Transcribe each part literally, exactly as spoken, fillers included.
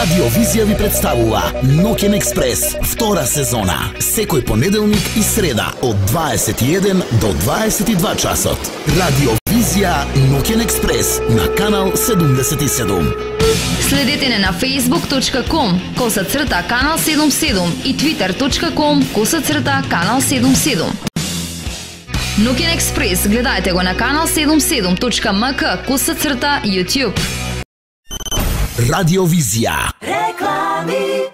Радио Визија ви представува Ноќен експрес, втора сезона, секој понеделник и среда од дваесет и еден до дваесет и два часот. Радио Визија Ноќен експрес на канал седумдесет и седум. Следете не на facebook точка com коса црта канал седумдесет и седум и twitter точка com коса црта канал седумдесет и седум. Ноќен експрес гледајте го на канал седумдесет и седум точка m k коса црта YouTube. Радио Визија. Реклами.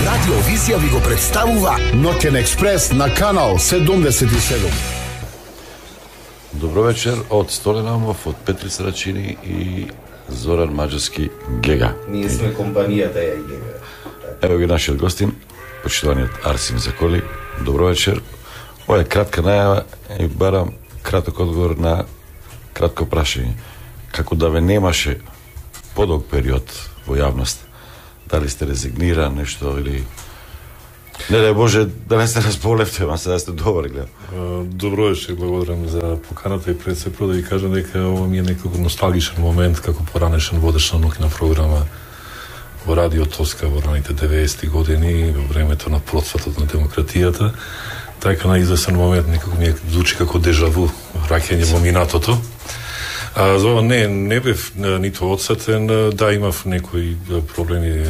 Радио Визија ви го представува Ноќен експрес на канал седумдесет и седум. Добро вечер од Столен Амов, од Петри Срачини и Зоран Маџарски Гега. Ние сме компанијата ја Гега. Ево ги нашиот гостин, почитуваниот Арсим Заколи. Добро вечер. Ова е кратка најава и барам краток одговор на кратко прашање. Како да ве немаше подолг период во јавност, дали сте резигниран нешто или не дај Боже да не се разболевте, ама сега сте добар, гледам. Добро вечер, благодарам за поканата и пред се прво да ви кажам дека ова ми е некако носталгичен момент како поранешен водещ на ноќна програма во Радио Тоска во раните деветдесети години, во времето на процватот на демократијата. Така на известен момент некако ми е звучи како дежаву, враќање во минатото. А, за ова не, не бев ниту одсетен, да, имав некои проблеми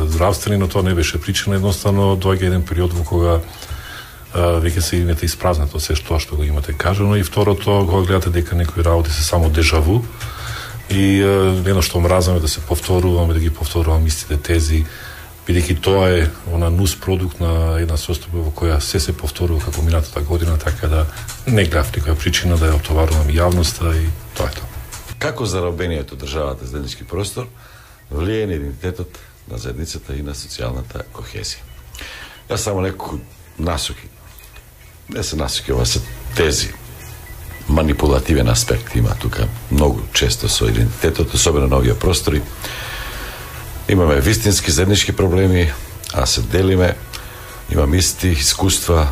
здравствени, но тоа не беше причина, едноставно доаѓа еден период во кога а, веќе се имате испразнато се што што го имате кажано, и второто, кога гледате дека некои работи се само дежаву и едно што мразаме да се повторуваме, да ги повторуваме истите тези, бидејќи тоа е она нус продукт на една состојба во која се се повторува како минатата година, така да не гледав никоја причина да ја отоварувам јавноста и тоа е тоа. Како заробениот од државата заеднички простор влијае на идентитетот на заедницата и на социјалната кохезија? Јас само некои насоки. Не се насоки, ова се тези. Манипулативен аспект има тука многу често со идентитетот, особено на овие простори. Имаме вистински заеднички проблеми, а се делиме, имаме исти искуства,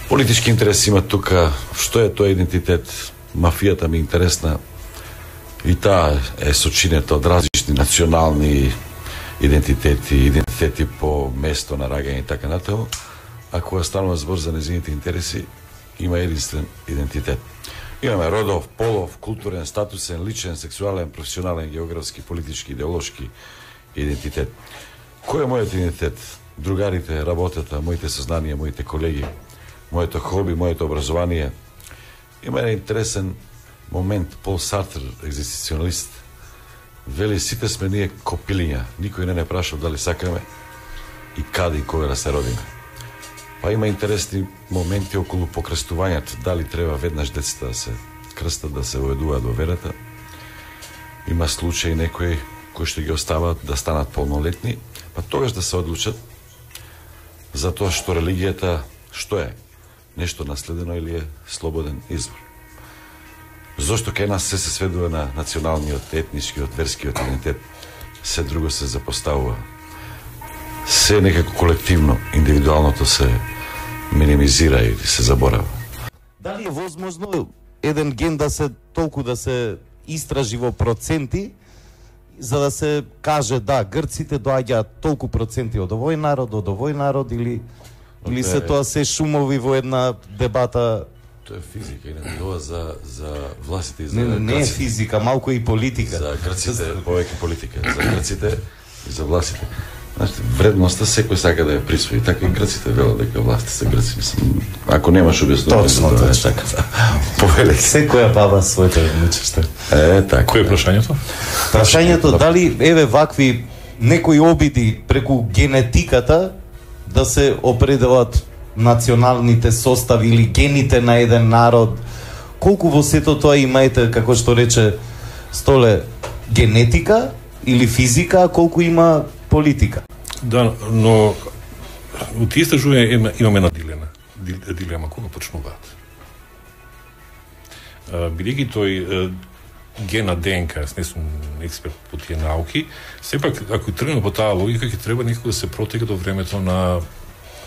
политички интереси има тука, што е тоа идентитет, мафијата ми е интересна, и таа е сочинета од различни национални идентитети, идентитети по место на раѓање и така натаму, а кога станува збор за нејзините интереси, има единствен идентитет. Имаме родов, полов, културен, статусен, личен, сексуален, професионален, географски, политички, идеолошки идентитет. Кој е мојот идентитет? Другарите, работата, моите сознанија, моите колеги, моето хоби, моето образование. Има еден интересен момент, Пол Сартер, екзистенцијалист, вели сите сме ние копилиња, никој не не прашал дали сакаме и каде и кога да се родиме. Па има интересни моменти околу покрстувањето, дали треба веднаш децата да се крстат, да се воедуваат во верата. Има случаи некои кои што ги остават да станат полнолетни, па тогаш да се одлучат за тоа што религијата што е, нешто наследено или е слободен избор. Зошто кај нас се се сведува на националниот, етничкиот, верскиот идентитет, се друго се запоставува. Се некако колективно, индивидуалното се минимизира или се заборава. Дали е возможно еден ген да се толку да се истражи во проценти, за да се каже да, грците доаѓаат толку проценти од овој народ, од овој народ, или или се тоа се шумови во една дебата? Тоа е физика, и не тоа за за властите и за Не, не е грците. физика, малку и политика. За грците, повеќе политика, за грците и за властите. Знаете, вредноста секој сака да ја присвои, така и грците велат дека властите се грци. Мислам, ако немаш објаснување, Точно, тоа е точно. така. Повелек. Секоја баба своето внучеште. Е, така. Кој е прашањето? Прашањето дали еве вакви некои обиди преку генетиката да се определат националните состави или гените на еден народ, колку во сето тоа имаете, како што рече Столе, генетика или физика, а колку има политика? Да, но у тие истражувања има, имаме една дилема, дилема кога почнуваат. Бидејќи тој ген на ДНК, јас не сум експерт по тие науки, сепак ако тргнеме по таа логика, ќе треба некако да се протега до времето на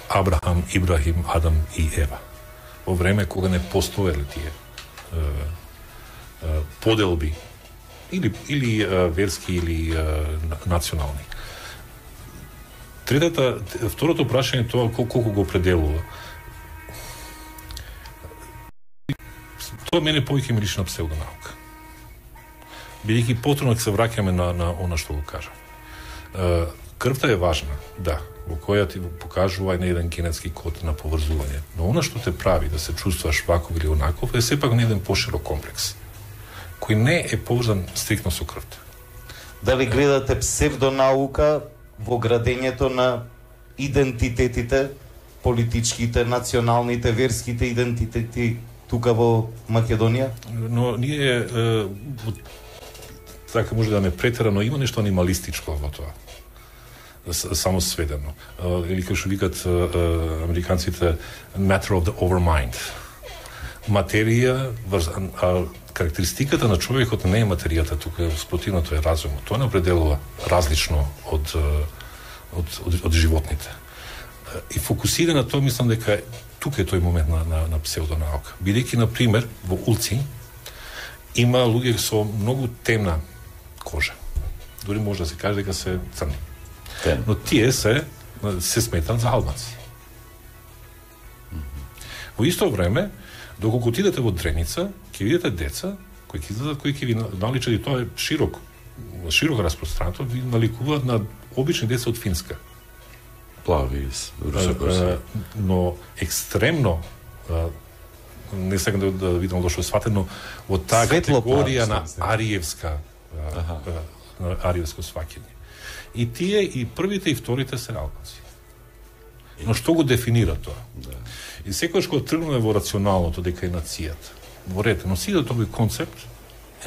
Абрахам, Ибрахим, Адам и Ева. Во време кога не постоеле тие е, е, поделби или или а, верски или а, национални. Третата, второто прашање е тоа колку го определува. Тоа мене повеќе ми личи на псевдонаука. Бидејќи потребно ќе се враќаме на на она што го кажа. Крвта е важна, да, во која ти покажува на еден генетски код на поврзување. Но она што те прави да се чувствуваш ваков или онаков е сепак на еден поширок комплекс, кој не е поврзан стриктно со крвта. Дали гледате псевдонаука во градењето на идентитетите, политичките, националните, верските идентитети тука во Македонија? Но ние е, така може да не претера, но има нешто анималистичко во тоа. Само сведено. Или како што викат американците matter of the overmind. Материја, а карактеристиката на човекот не е материјата, тука спротивното е разумот. Тоа не определува различно од од од, од животните. И фокусира на тоа, мислам дека тука е тој момент на на, на псевдонаука. Бидејќи на пример во улци има луѓе со многу темна кожа. Дури може да се каже дека се црни. Тем. Но тие се се сметат за албанци. Mm-hmm. Во исто време, доколку отидете во Дреница, ќе видите деца кои ќе излезат, кои ќе ви наличат, и тоа е широк, широко распространато, ви наликуваат на обични деца од Финска. Плави, русоко. Но екстремно, не сакам да, да видам дошто сватено, во таа категорија на ариевска, на ариевско сваќање. И тие, и првите, и вторите се албанци. Но што го дефинира тоа? Да. И секојаш кога тргнеме во рационалното дека е нацијата, во ред, но сите тој концепт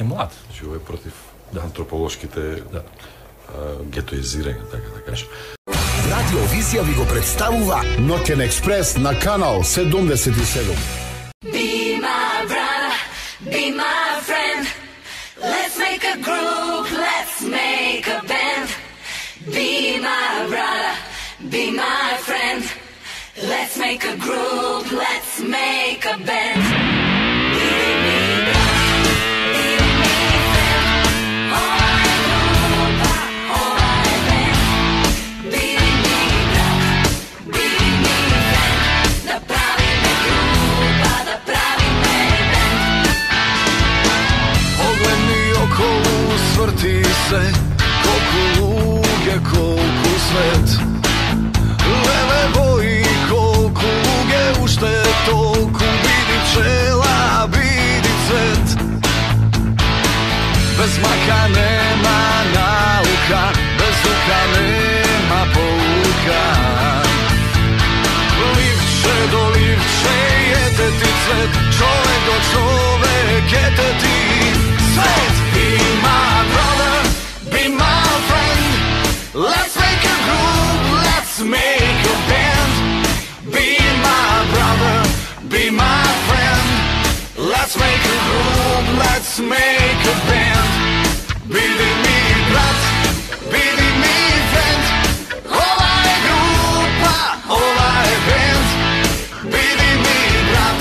е млад. Значи, ова е против да. антрополошките да. гетоизирања, така да кажем. Радио Визија ви го представува Ноќен експрес на канал седумдесет и седум. Be my brother, be my friend. Let's make a group, let's make a band. Be my brother, be my friend. Let's make a group, let's make a band. Be me brother, be me friend. Ova je grupa, ova je band. Be me brother, be me friend. Da pravime grupa, da pravime band. Pogledni okolo, svrti se, koliko luge, koliko svet. Leve boji, koliko luge, ušte toliko, vidi pčela, vidi cvet. Bez maka nema nauka, bez luka nema pouka. Livče do livče, jete ti cvet, čovek do čovek, jete ti svet. Be my brother, be my friend. Let's make a group, let's make a band. Be my brother, be my friend. Let's make a group, let's make a band. Bili mi brat, bili mi friend. Ova je grupa, ova je band. Bili mi brat,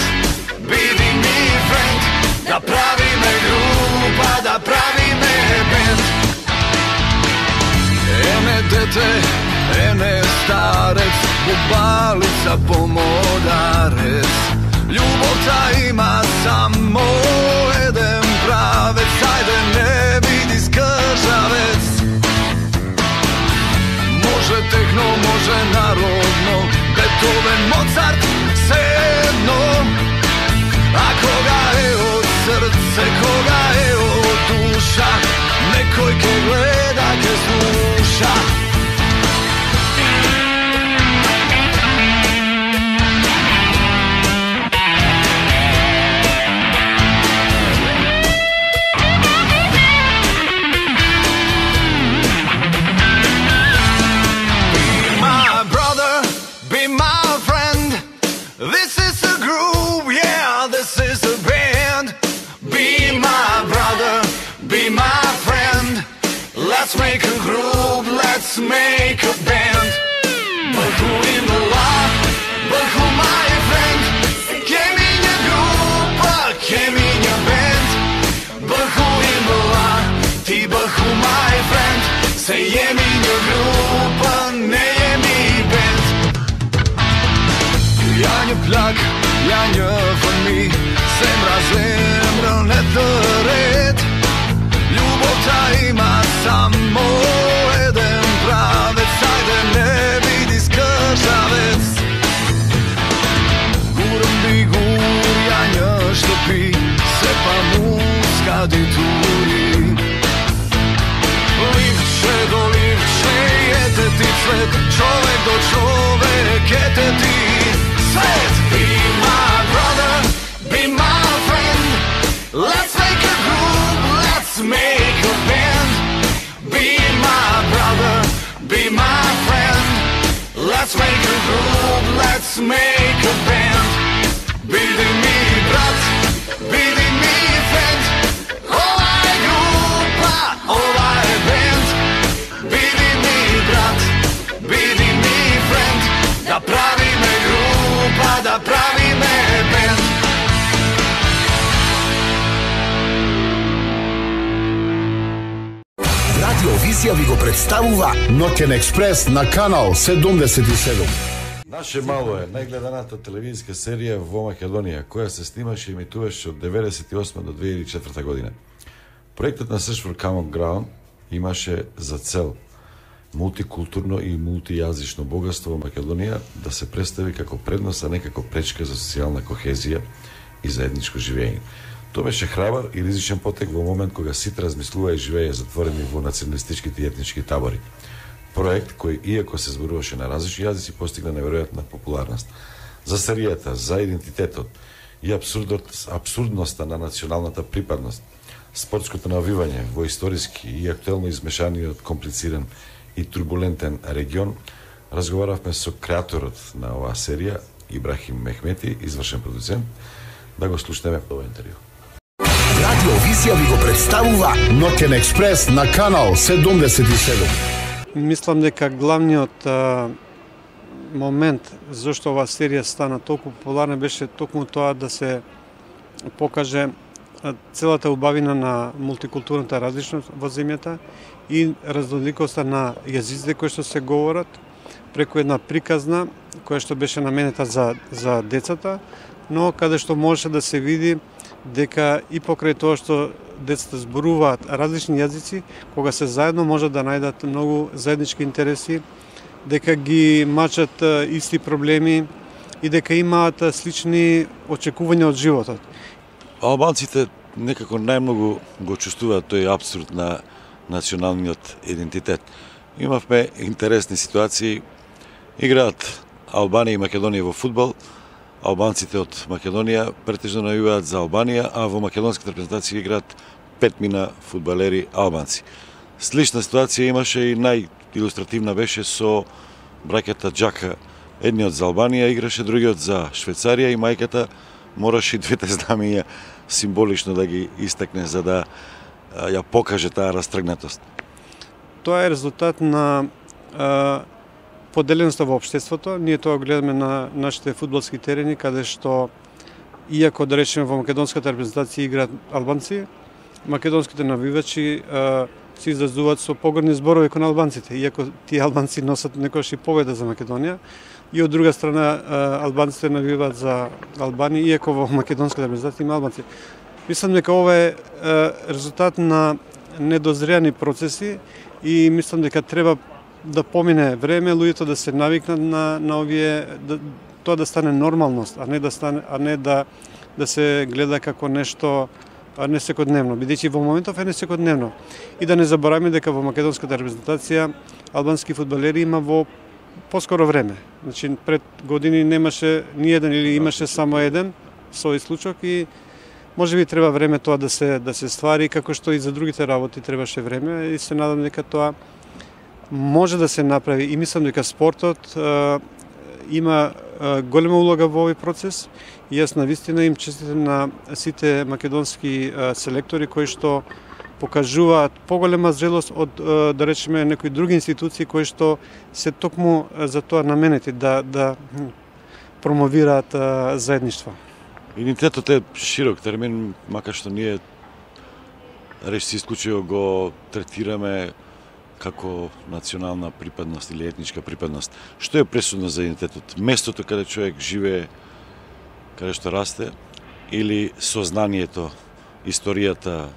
bili mi friend. Da pravime grupa, da pravime band. Ene dete, ene starec, bubalica pomodarec. Ljubota ima samo jedan pravec, ajde ne vidi skržavec. Može tehno, može narodno, Beethoven, Mozart, sedno. A koga je od srce, koga je od duša, nekoj ke gleda, ke sluša. Let's make a group, let's make a band. But who in the law, but who my friend? Che minha grupa, che minha band. But who in the law, my friend. Say je mi nju grupa, ne je mi band. Ja nju plak, ja nju for mi, zemra zemra ne red. Ljubov ta ima samo jedan pravec, ajde ne vidi skržavec. Guram bi gurjanja što pi, se pa muska di turi. Livče do livče, jete ti cvet, čovek do čovek, jete ti svet. Be my brother, be my friend, let's make a group, let's make a band. Be my brother, be my friend, let's make a group, let's make a band. Bidi mi brat, bidi mi friend, ovaj grupa, ovaj band. Bidi mi brat, bidi mi friend, da pravime grupa, da pravime band. Радио Визија ви го представува Ноќен експрес на канал седумдесет и седум. Наше мало е најгледаната телевизиска серија во Македонија, која се снимаше и емитуваше од деветдесет и осма до две илјади и четврта година. Проектот на Search for Common Ground имаше за цел мултикултурно и мултијазично богатство во Македонија да се представи како предност, а не како пречка за социјална кохезија и заедничко живење. Тоа беше храбар и ризичен потек во момент кога сите размислува и живееја затворени во националистичките и етнички табори. Проект кој, иако се зборуваше на различни јазици, постигна неверојатна популарност. За серијата, за идентитетот и абсурдноста на националната припадност, спортското навивање во историски и актуелно измешаниот, комплициран и турбулентен регион, разговаравме со креаторот на оваа серија, Ибрахим Мехмети, извршен продуцент, да го слушнеме по ова интервју. Радио Визија ви го представува Ноќен експрес на канал седумдесет и седум. Мислам дека главниот а, момент зашто оваа серија стана толку популарна беше токму тоа да се покаже а, целата убавина на мултикултурната различност во земјата и разноликоста на јазиците кои што се говорат преку една приказна која што беше наменета за, за децата, но каде што можеше да се види дека и покрај тоа што децата зборуваат различни јазици, кога се заедно можат да најдат многу заеднички интереси, дека ги мачат исти проблеми и дека имаат слични очекувања од животот. Албанците некако најмногу го чувствуваат тој апсурд на националниот идентитет. Имавме интересни ситуации. Играат Албанија и Македонија во фудбал. Албанците од Македонија претежно навиваат за Албанија, а во македонската репрезентација играат петмина фудбалери албанци. Слична ситуација имаше и најилустративна беше со браќата Џака. Едниот за Албанија играше, другиот за Швајцарија и мајката мораше двете знамења символично да ги истакне за да ја покаже таа растргнатост. Тоа е резултат на а, поделеноста во општеството. Ние тоа гледаме на нашите фудбалски терени, каде што, иако да речеме во македонската репрезентација играат албанци, македонските навивачи а, се изразуваат со погрдни зборови кон албанците, иако тие албанци носат некојаш и победа за Македонија. И од друга страна а, албанците навиваат за Албанија, иако во македонската репрезентација има албанци. Мислам дека ова е а, резултат на недозреани процеси и мислам дека треба да помине време, луѓето да се навикнат на на овие да, тоа да стане нормалност, а не да стане а не да да се гледа како нешто не секојдневно, бидејќи во моментов е не секојдневно. И да не забораваме дека во македонската репрезентација албански фудбалери има во поскоро време. Значи пред години немаше ни еден или имаше само еден со случок и можеби треба време тоа да се да се ствари, како што и за другите работи требаше време и се надам дека тоа може да се направи и мислам дека спортот а, има а, голема улога во овој процес и јас навистина им честитам на сите македонски а, селектори кои што покажуваат поголема зрелост од а, да речеме некои други институции кои што се токму за тоа наменети да да промовираат а, заедништво. Идентитетот е широк термин, макар што ние речи исклучиво го третираме како национална припадност или етничка припадност. Што е пресудно за идентитетот? Местото каде човек живее, каде што расте, или сознанието, историјата,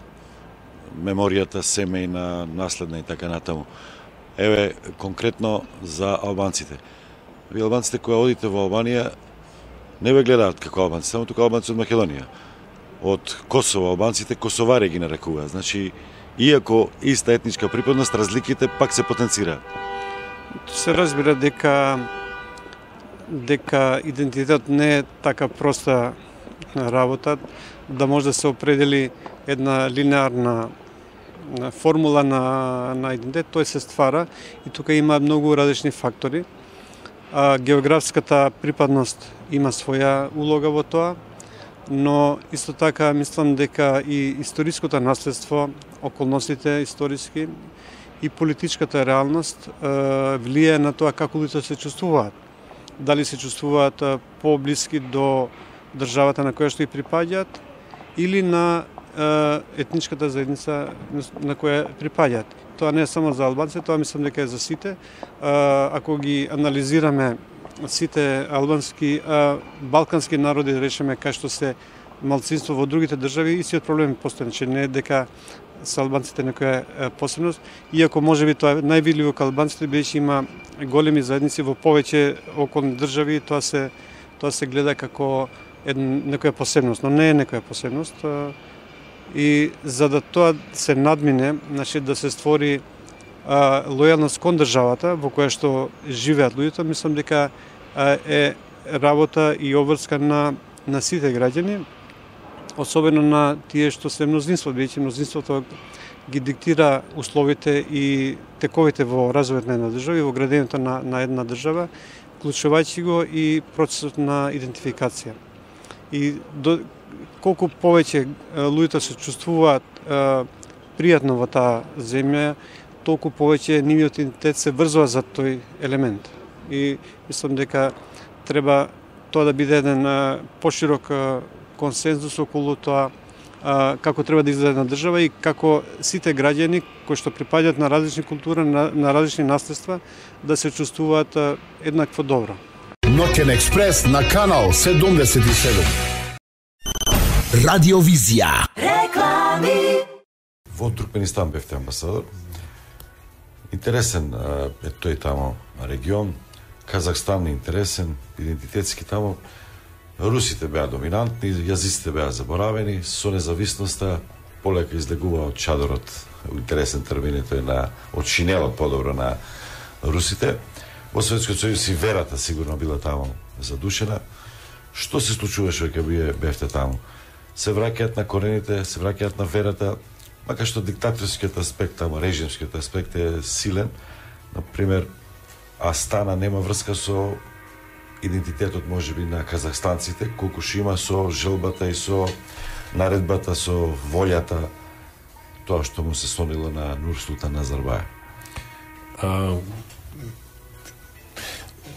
меморијата, семејна, наследна и така натаму. Еве, конкретно за албанците. Ви албанците кои одите во Албанија не ве гледаат како албанци, само тука албанци од Македонија. Од Косово албанците косовари ги нарекуваат. Значи, иако иста етничка припадност, разликите пак се потенцираат. Се разбира дека дека идентитет не е така проста работа, да може да се определи една линеарна формула на, на идентитет, тој се ствара и тука има многу различни фактори. А, географската припадност има своја улога во тоа, но исто така мислам дека и историското наследство, околностите историски и политичката реалност е, влијае на тоа како луѓето се чувствуваат. Дали се чувствуваат е, поблиски до државата на која што и припаѓаат или на е, етничката заедница на која припаѓаат. Тоа не е само за албанците, тоа мислам дека е за сите. Ако ги анализираме сите албански, балкански народи, да речеме, кај што се малцинство во другите држави, истиот проблем постои, че не е дека се албанците некоја посебност, иако можеби тоа највидливо кај албанците бидејќи има големи заедници во повеќе околни држави, тоа се тоа се гледа како една некоја посебност, но не е некоја посебност. И за да тоа се надмине, значи да се створи а, лојалност кон државата во која што живеат луѓето, мислам дека а, е работа и обврска на на сите граѓани, особено на тие што се мнозинство, бидејќи мнозинството ги диктира условите и тековите во развојот на една држава и во градењето на на една држава, вклучувајќи го и процесот на идентификација. И до колку повеќе луѓето се чувствуваат е, пријатно во таа земја, толку повеќе нивниот идентитет се врзува за тој елемент. И мислам дека треба тоа да биде еден е, поширок е, консензус околу тоа е, како треба да изгледа една држава и како сите граѓани кои што припаѓаат на различни култури, на, на различни наследства, да се чувствуваат е, еднакво добро. Ноќен експрес на канал седумдесет и седум. Радиовизија. Реклами. Во Туркменистан бевте амбасадор. Интересен е тој тамо регион. Казахстан е интересен, идентитетски тамо. Русите беа доминантни, јазиците беа заборавени, со независноста полека излегува од чадорот, интересен термин е тој на од шинелот подобро на русите. Во Советскиот сојуз и верата сигурно била тамо задушена. Што се случуваше кога бевте тамо? Се враќаат на корените, се враќаат на верата, макар што диктаторскиот аспект, тамо режимскиот аспект е силен. Например, Астана нема врска со идентитетот можеби на казахстанците, колку што има со желбата и со наредбата, со волјата, тоа што му се сонило на Нурсултан Назарбаев. А,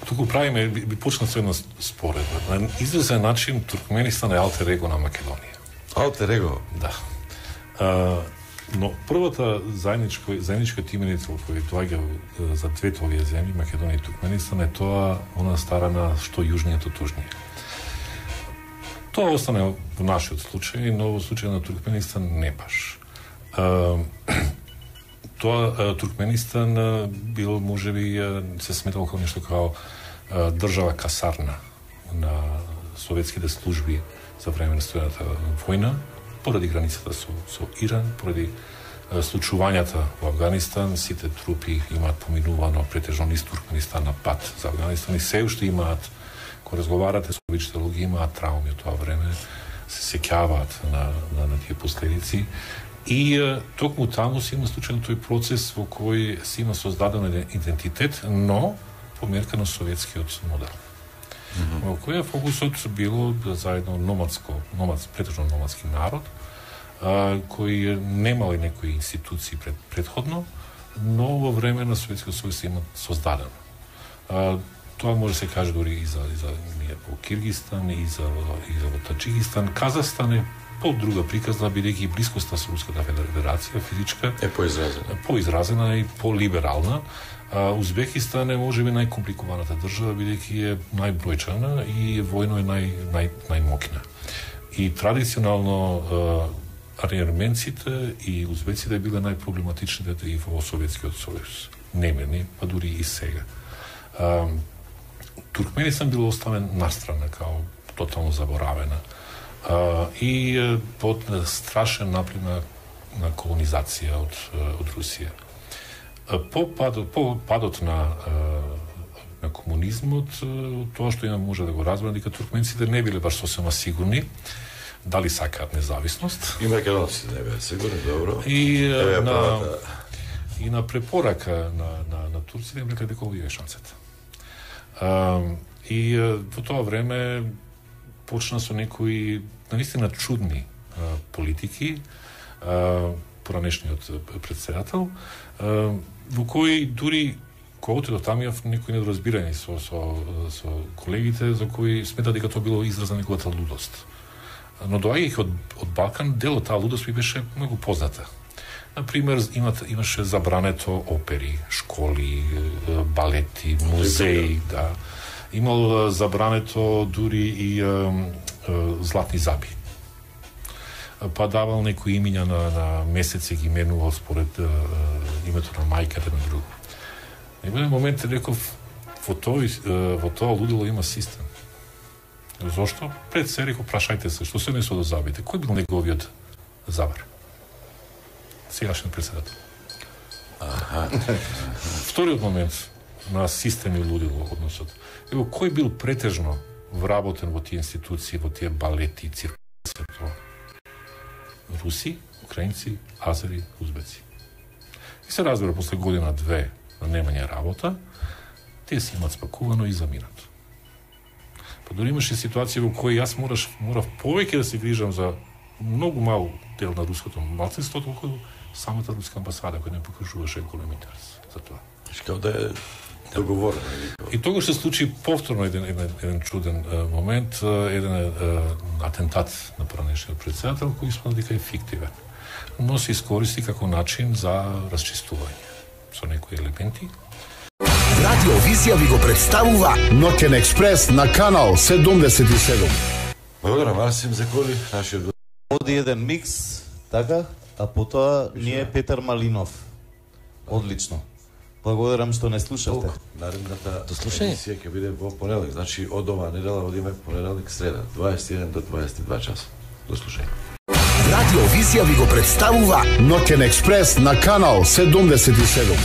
туку правиме, би, би почна со една споредба. На известен начин Туркменистан е алтер его на Македонија. Алтер его? Да. А, но првата заедничка, заедничката именица која доаѓа за двете овие земји, Македонија и Туркменистан, е тоа она старана што јужниот од тужниот. Тоа остане во нашиот случај, но во случај на Туркменистан не баш. А, тоа Туркменистан бил можеби се сметал како нешто како држава касарна на советските служби за време на студената војна, поради границата со, со Иран, поради случувањата во Афганистан, сите трупи имаат поминувано претежно низ Туркменистан на пат за Афганистан и се уште имаат, кога разговарате со обичните луѓе, имаат трауми од тоа време, се сеќаваат на, на, на тие последици. И токму таму се има случајно тој процес во кој се има создаден идентитет, но по мерка на советскиот модел. Mm-hmm. Во која фокусот било заедно номадско, номадс, претежно номадски народ, а, кои немали некои институции пред, предходно, но во време на Советскиот сојуз се има создадено. А, тоа може да се каже дори и за, и за ние во Киргистан, и за, и за во Таджикистан. Казахстан е по друга приказна, бидејќи блискоста со Руската федерација физичка е поизразена, поизразена и полиберална. А, Узбекистан е можеби најкомпликуваната држава, бидејќи е најбројчана и војно е нај, нај, најмоќна. И традиционално арменците и узбеците биле најпроблематичните и во Советскиот сојуз. Немени, па дури и сега. А, Туркменистан бил оставен настрана, као тотално заборавена. А, и под страшен наплив на, на колонизација од, од Русија. По падот, по падот на, на комунизмот, тоа што има може да го разбере, дека туркменците не биле баш сосема сигурни дали сакаат независност. И македонците не беа сигурни, добро. И Еве, на правата. и на препорака на на на турците им рекла дека овие е шансата. А, и во тоа време почна со некои наистина чудни а, политики, а, поранешниот претседател, а, во кои дури кога отидов таму имав некои недоразбирања со со со колегите за кои смета дека тоа било израз на неговата лудост. Но доаѓајќи од од Балкан, дел од таа лудост ми беше многу позната. Например, имат, имаше забрането опери, школи, балети, музеи, да. Имал забрането дури и е, е, златни заби. Па давал некои имиња на, на месеци, ги менувал според е, името на мајката на друго. И во еден момент реков, во тоа, во тоа лудило има систем. Зошто? Пред се реков, прашајте се, што се несо до забите? Кој бил неговиот забар? Сегашен председател. Аха. Вториот момент на систем и лудило односот. Ево, кој бил претежно вработен во тие институции, во тие балети, циркуси, руси, украинци, азери, узбеци. И се разбира, после година-две на немање работа, тие си имат спакувано и заминат. Па дори имаше ситуација во кои јас мораш, морав повеќе да се грижам за многу мал дел на руското малцинство, толку самата руска амбасада која не покажуваше голем интерес за тоа. Као да е договорено. И тогаш се случи повторно еден, еден, еден чуден uh, момент, uh, еден uh, атентат на поранешниот претседател кој испадна дека е фиктивен. Но се искористи како начин за расчистување со некои елементи. Радио Визија ви го представува Ноќен експрес на канал седумдесет и седум. Благодарам, Марсим Заколи, нашиот гост. Оди еден микс, така, а потоа ние Петар Малинов. Одлично. Благодарам што не слушавте. Наредната емисија ќе биде во понеделник, значи од оваа недела одиме понеделник, среда, дваесет и еден до дваесет и два часа. До слушање. Радио Визија ви го представува Ноќен експрес на канал седумдесет и седум.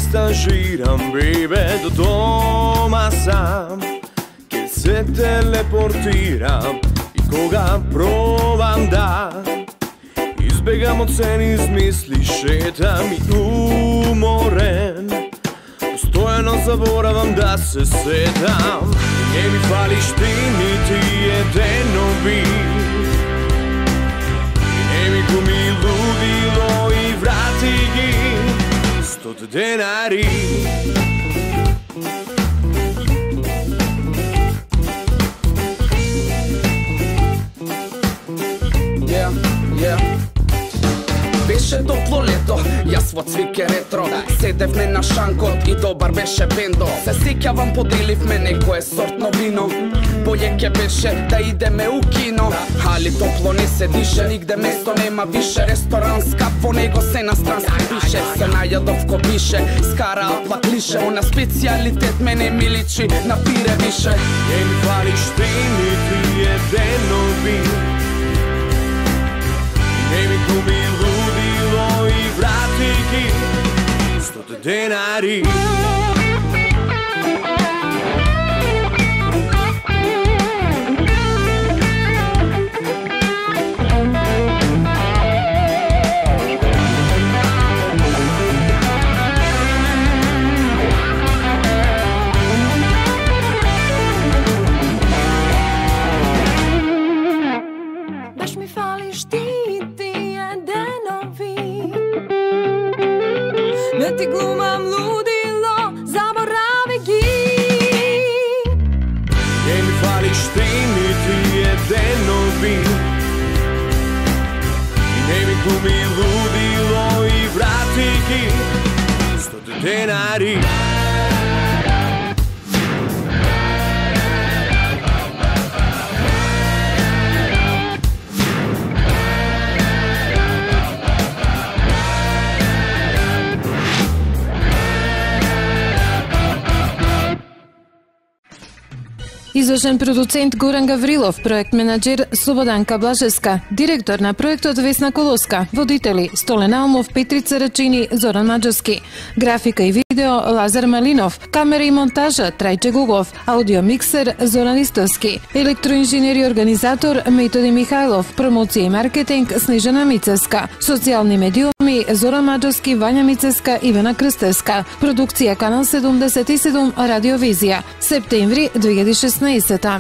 Stagiram, baby, do doma sam. Che se teleportiram i koga probam da izbegam od sen izmisli, šetam i umoren. Postojano zaboravam da se setam. Ne mi fališ ti niti jedeno bi. Ne mi gumi ludilo i vrati gi Stot denari. Yeah, yeah. Беше топло лето, јас во цвике ретро седевме на шанкот и добар беше бендо. Се сеќавам, поделивме некое сортно вино. Боје ке беше да идеме у кино, али топло не се дише, нигде место нема више. Ресторан скап, во него се на странски пише. Се најадов ко бише, скара апла клише. Она специјалитет мене ми личи на пире више. Не ми фалиш ти нити едено ви. Не ми губи ludilo i vrati gi Stote denari. да ти глумам лудило, заборави ги. Не ми фалиш ти, нити еден обид. И не ми глуми лудило и врати ги стоте денари. Извршен продуцент Горан Гаврилов, проект менаџер Слободанка Блажеска, директор на проектот Весна Колоска, водители Столен Алмов, Петрица Рачини, Зоран Маџовски, графика и видео Лазар Малинов, камера и монтажа Трајче Гугов, аудио миксер Зоран Истовски, електроинженер и организатор Методи Михајлов, промоција и маркетинг Снежана Мицеска, социјални медиуми Зоран Маџовски, Вања Мицеска, Ивана Крстевска, продукција Канал седумдесет и седум Радиовизија, септември две илјади и шеснаесета.